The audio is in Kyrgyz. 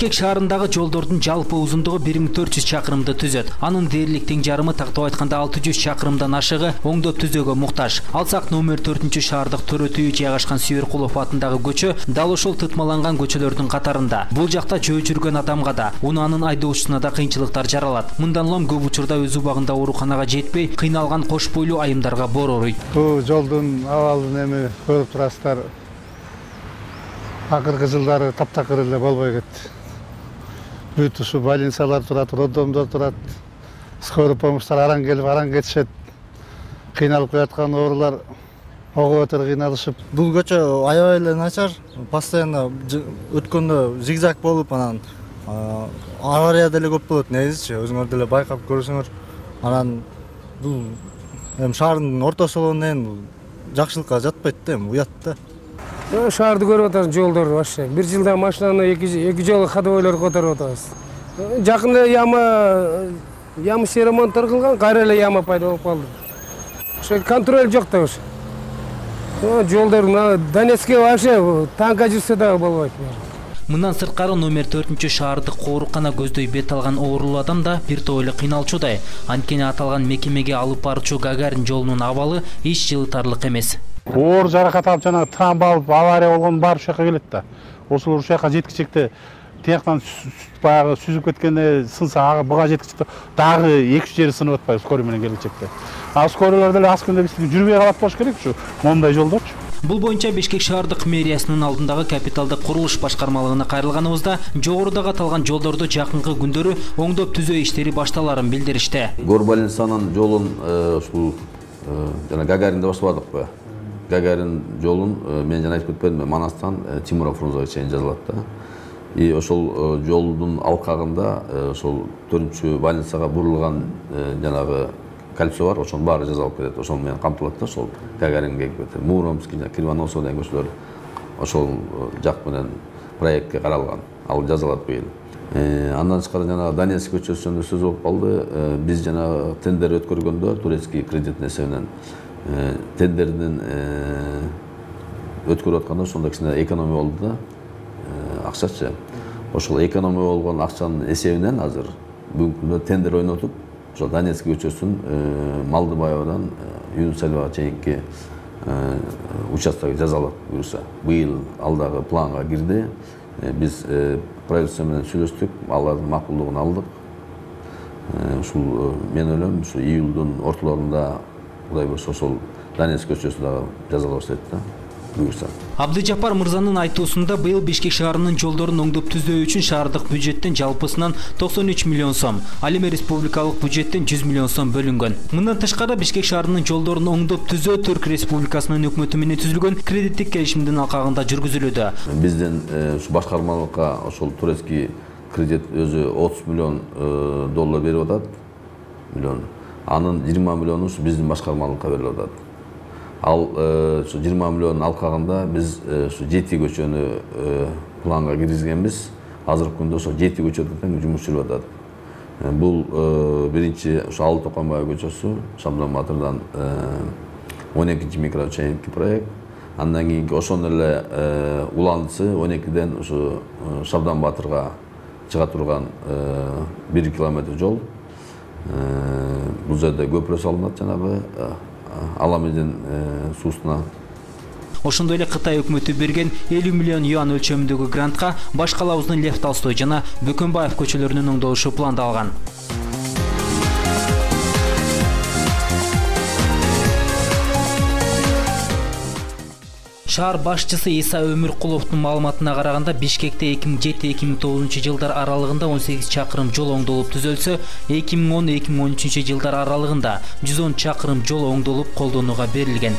Бишкек шаарындагы жолдордун жалпы узундугу 1400 чакырымды түзөт. Анын дээрлик тең жарымы тактап айтканда 600 чакырымдан ашыгы оңдоп түзөөгө муктаж. Алсак номер 4 шаардык төрөтүү жайгашкан Сүйөркулов атындагы көчө дал ошол тытмаланган көчөлөрдүн катарында. Бул жакта жөө жүргөн адамга да, унаанын айдоочусуна да кыйынчылыктар жаралат. Мындан улам көп учурда өз убагында ооруканага жетпей, кыйналган кош бойлуу айымдарга боор оруйт. Бул жолдун абалын эми көрүп турасыздар. Акыркы жылдары таптакыр эле болбой кетти. Бүт ушу больницалар турат, роддомдор турат. Скорый помощьтар араң келип, араң кетишет. Кыйналып калаткан оорулар ого өтөр кыйналышып. Бул көчө аябай эле начар. Постоянно өткөндө зигзаг болуп, анан авария деле көп болот. Негизичи өзүңөр деле байкап көрсөңөр, анан бул эми шаардын ортосу болгондон кийин жакшылыкка жатпайт да, эми уят да. Шаарды көрүп атабыз, жолдорду вообще. Бир жылда машинаны эки жолу ходовойлор которуп атабыз. Жакында яма ремонттор кылган, кайра эле яма пайда болуп калды. Ошо контроль жок да ошо. Жолдор Донецкке вообще танка жүрсө дагы болбойт. Мындан сырткары номер 4 шаардык оорукана көздөй бет алган оорулуу адам да бир топ эле кыйналчудай. Анткени аталган мекемеге алып баруучу Гагарин жолунун абалы эч жылытарлык эмес. Оор жаракат алып, жана трамба алып, авария болгон бар ушул жака келет да. Ошол ушул жака жеткичекте тияктан баягы сүзүп кеткенде сынса, ага буга жеткичекте дагы 2-3 жери сынып атпайбы скорый менен келечекте. А скорыйлар деле аз күндө биздики жүрбөй калат болуш керек ушу моундай жолдорчу. Бул боюнча Бишкек шаардык мэриясынын алдындагы капиталдык курулуш башкармалыгына кайрылганыбызда жогорудагы аталган жолдорду жакынкы күндөрү оңдоп түзөө иштери башталарын билдиришти. Горбольницанын жолун ушул жана Гагаринде баштабадыкпы? Гагарин жолун мен жана айтып кетпедимби, Манастан Тимуров Фрунзеге чейин жазылат да. И ошол жолдун алкагында ошол 4 больницага бурулган жанагы кольцо бар, ошонун баары жазалып кетет. Ошол менен камтылат да, ошол Гагаринге кетет. Муромский, Кривоносов деген көчөлөр ошол жак менен проектке каралган. Ал жазалат быйыл. Андан тышкары жана Донецк көчөсүндө сөз болуп калды. Биз жана тендер өткөргөндө турецкий кредиттин эсебинен тендердин өткөрүп атканда ошондо кичине экономия болду да, акчачы. Ошол экономия болгон акчанын эсебинен азыр бүгүнкү күндө тендер ойнотуп, ошол Донецк көчөсүн Малдыбаевадан Юнусалевага чейинки участок жазалап буюрса. Быйыл ал дагы планга кирди. Биз правительство менен сүйлөштүк, алардын макулдугун алдык. Ушул мен ойлойм, ушу июлдун ортолорунда Кудай болсо ошол Донецк көчөсү дагы жазала баштайт да, буюрса. Абдыжапар мырзанын айтуусунда быйыл Бишкек шаарынын жолдорун оңдоп түзөө үчүн шаардык бюджеттин жалпысынан 93 миллион сом, ал эми республикалык бюджеттин 100 миллион сом бөлүнгөн. Мындан тышкары Бишкек шаарынын жолдорун оңдоп түзөө Түрк Республикасынын өкмөтү менен түзүлгөн кредиттик келишимдин алкагында жүргүзүлүүдө. Биздин ушу башкармалыкка ошол турецкий кредит өзү 30 миллион доллар берип атат. Анын 20 миллиону биздин башкармалыкка берилип атат. Ал ушу 20 миллион алкагында биз ушу 7 көчөнү планга киргизгенбиз. Азыркы күндө ошол 7 көчөдө тең жумуш жүрүп атат. Бул биринчи ушу Алы Токойбаев көчөсү, Шабдан Батырдан 12-чи микро чейинки проект. Андан кийинки ошондой эле уландысы 12ден ушу Шабдан Батырга чыга турган 1 километр жол. Бул жерде көпүрө салынат, жанагы Аламедин суусуна. Ошондой эле Кытай өкмөтү берген 50 миллион юан өлчөмүндөгү грантка Баш калабыздын Лев Толстой жана Бөкөнбаев көчөлөрүнүн оңдолушу пландалган. Шаар башчысы Иса Өмүркуловдун маалыматына караганда Бишкекте 2007-2009 жылдар аралыгында 18 чакырым жол оңдолуп түзөлсө, 2010-2013 жылдар аралыгында 110 чакырым жол оңдолуп колдонууга берилген.